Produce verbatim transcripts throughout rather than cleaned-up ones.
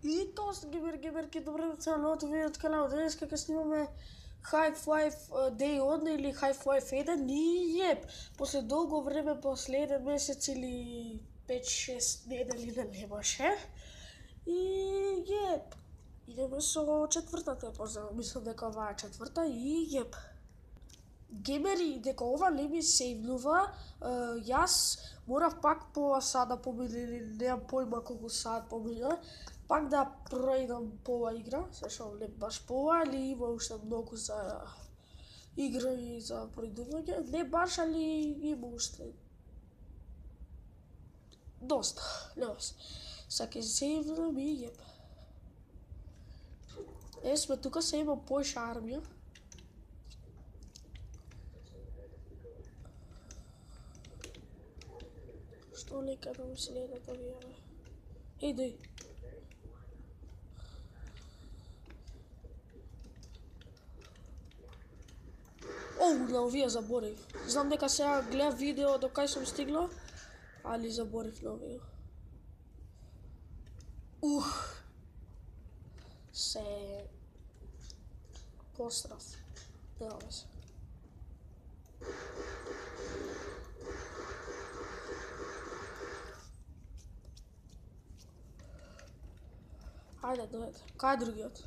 И тоа сте гибер гиберки, добре деца, новото видео канал. Денес како снимаме Half-Life Day еден или Half-Life еден и јеп, после долго време, после еден месец или пет-шест недели да немаше. И јеп, идеме со четвртата епизода, мислам дека ова е четврта и јеп. Геймери, дека ова не ми сейвнува, јас морав пак по сад да помине, или немам појма колку сад помина, пак да пројдам по ова игра, се шо не баш по ова, али има уште многу за игра и за пројдување, не баш, али има уште доста, нема се. Саке сейвнам и јеп. Е, сме тука, се има поиша армија. Што лека да ми следат овие, бе? Иди. Оу, на овие заборив. Знам дека сега гледам видео до кај сум стигнал, али заборив на овие. Ух. Се пострав. Нема се. Ајде, дојде. Кај е другиот?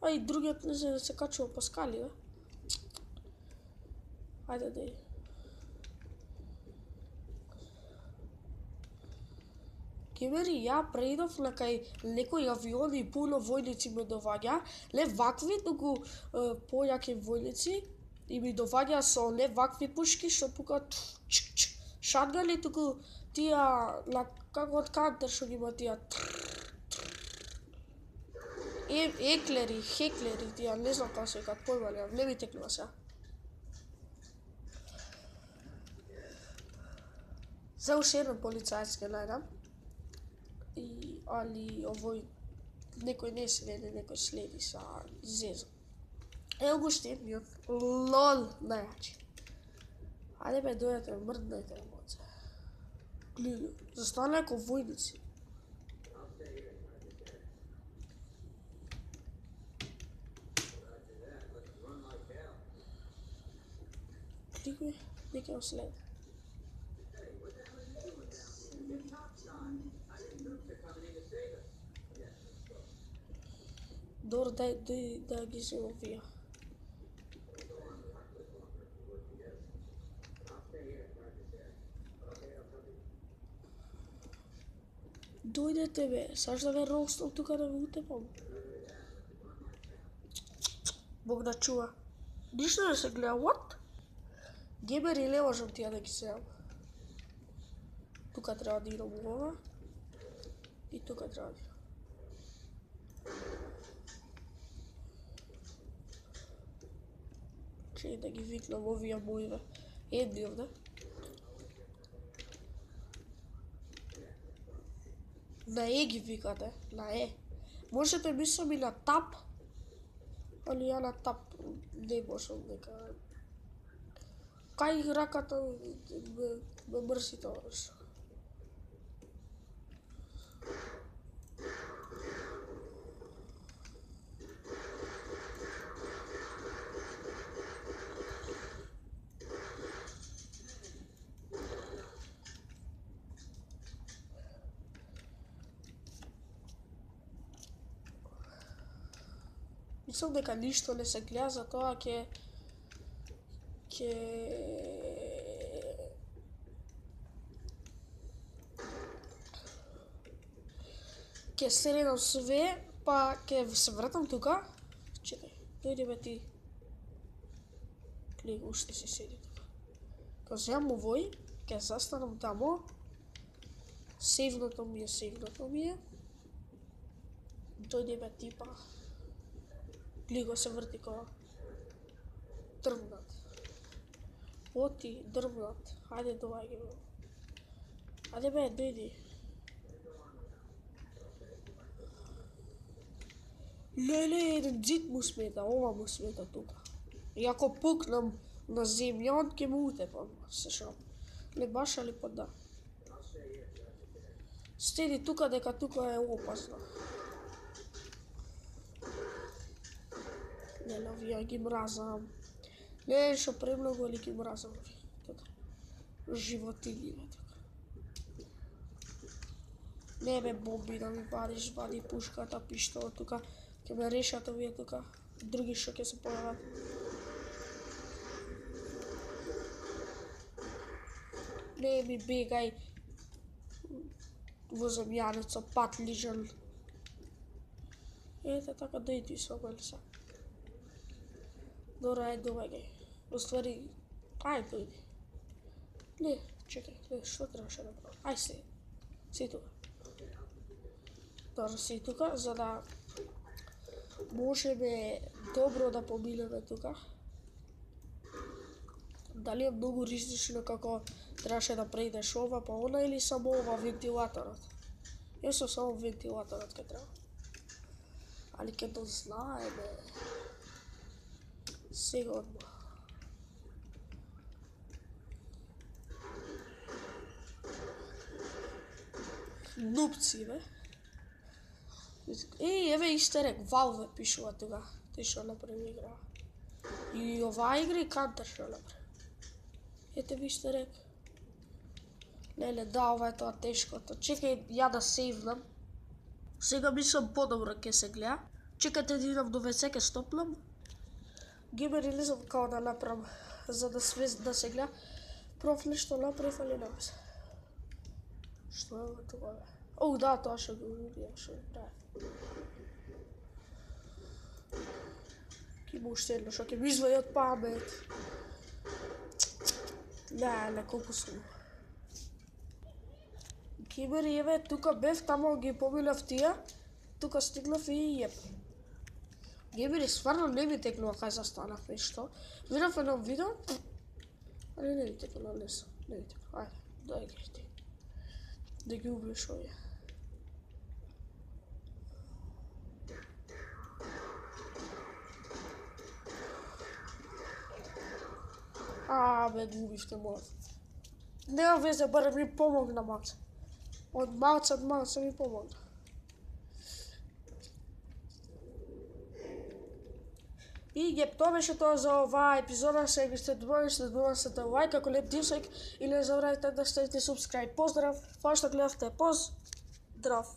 А и другиот не знае да се качува по скали, бе. Ајде, дојде. Геймери, ја преидов на кај некои авиони и пуно војници ме доваѓа, не вакви, туку појаки војници и ми доваѓа со не вакви пушки што пукат шатгани, туку тие на како од Кантер што ги има тие Е, еклери, хеклери, тие, не знам како се викаат, појма немам, не ми текнува сега. За уште еден полицаец ке најдам. И, али овој некој не следи, некој следи са зеза. Ево го уште едниот, лол, најачи. Ајде бе, дојдете, мрднете, моце. Гледа, застана како војници. Кликни, нека го следи. Добро, дај, дај, да ги се овија. Дојдете бе, саш да ве ростам тука да ве утепам. Бог да чува. Ништо да се гледа, what? Геймери, не можам тие да ги седам. Тука треба да идам ова. И тука треба да идам. Чеј да ги викнам овие моиве. Едни овде. На Е ги викате, на Е. Можете мислам и на тап, али ја на тап не можам дека. Кај раката ме мрси тоа нешто. Мислам дека ништо не се гледа, затоа ќе ќе ќе седам све, па ќе се вратам тука. Чекај, дојди бе ти. Клик, уште си седи тука. Кога земам овој, ќе застанам тамо. Сейвното ми е, сейвното ми е. Дојди бе ти па. Глиго се врти кога дрвнат. Оти, дрвнат. Хајде доаѓи бе. Хајде бе, дојди. Леле, еден дзид му смета, ова му смета тука. И ако пукнам на земја, ќе му утепам, се шо. Не баш, али па да. Стеди тука дека тука е опасно. Леле, овие ги мразам. Не шо премногу, али ги мразам овие. Тука. Животини има тука. Не ме бомби да ми вадиш, вади пушката, пиштолот тука. Ке ме решат овие тука. Други шо ќе се појават. Не ми бегај во земјаница, пат лижан. Ете така дојди со мене са. Добро, ајде доваѓај. Уствари, ајде дојди. Не, чекај, не, што требаше да правам? Ај се, си тука. Добро, си тука, за да можеме добро да поминеме тука. Дали е многу ризично како требаше да преидеш ова па она или само ова вентилаторот? Јас само вентилаторот ке треба. Али ке дознаеме. Сега одма. Нупци, бе. Еј, еве истерек, Valve пишува тука. Тој што направи игра. И оваа игра и Counter што направи. Ете ви истерек. Леле, да, ова е тоа тешкото. Чекај, ја да сейвнам. Сега мислам подобро ќе се гледа. Чекајте да идам до ве це, ке стопнам. Геймер релизам као да направам, за да, све, да се гледа. Проф нешто направив, али не се. Што е тоа, бе? Оу, да, тоа што го убија, што го прави. Ки му уште едно, што ќе ми извади од памет. Леле, колку сум. Геймери, еве, тука бев, тамо ги поминав тие, тука стигнав и јеп. Геймери, стварно не ми текнува кај застанав и што. Видав едно видео, али не ми текнува, не сум, не ми текнува, ајде, дојаѓај ти. Да ги убиеш овие. А, бе, губивте мојот. Нема везе, барем ми помогна малце. Од малце, од малце ми помогна. И геп, тоа беше тоа за оваа епизода. Сега ви сте добри, сте добри, сте лајк, ако леп дисек, и не забравяйте да ставите subscribe. Поздрав, фала што гледавте, поздрав.